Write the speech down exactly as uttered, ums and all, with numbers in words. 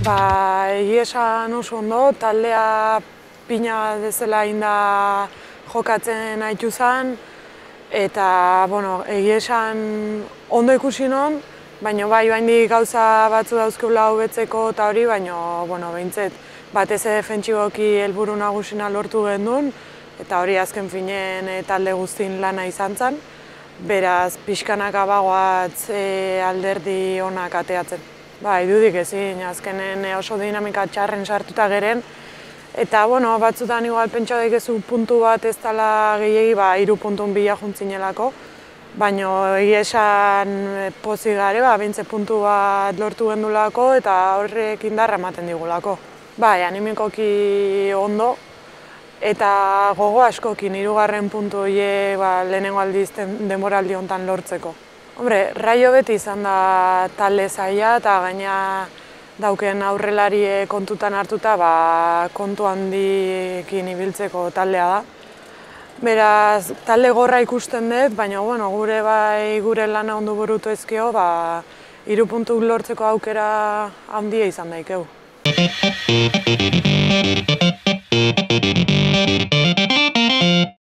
Ba, egia esan oso ondo, taldea pina dezela inda jokatzen haitu zen, eta, bueno, egia esan ondo ikusi non, baina bai, baindik gauza batzu dauzkeula hobetzeko eta hori, baina, bueno, behintzet, batez ere defentsiboki helburu nagusina lortu gendun, eta hori azken finen e, talde guztin lana izan zen, beraz, pixkanaka bagoatz e, alderdi onak ateatzen. Ba, idudik ezin, azkenen oso dinamika txarren sartuta geren, eta, bueno, batzutan igual pentsa daikezu puntu bat ez dela gehiegi, ba, hiru puntun bila juntzinelako, baina egia esan pozik gare, ba, bintze puntu bat lortu gendulako eta horrek indarra ematen digulako. Bai, animikoki ondo, eta gogo askokin hirugarren puntu horiek ba, lehenengo aldiz denboraldi honetan lortzeko. Hombre, Raio beti izan da talde zaila eta gaina dauken aurrelarie kontutan hartuta ba, kontu handiekin ibiltzeko taldea da. Beraz, talde gorra ikusten dut, baina bueno, gure bai gure lana ondo burutu ezkio, ba, hiru puntu lortzeko aukera handia izan daikeu.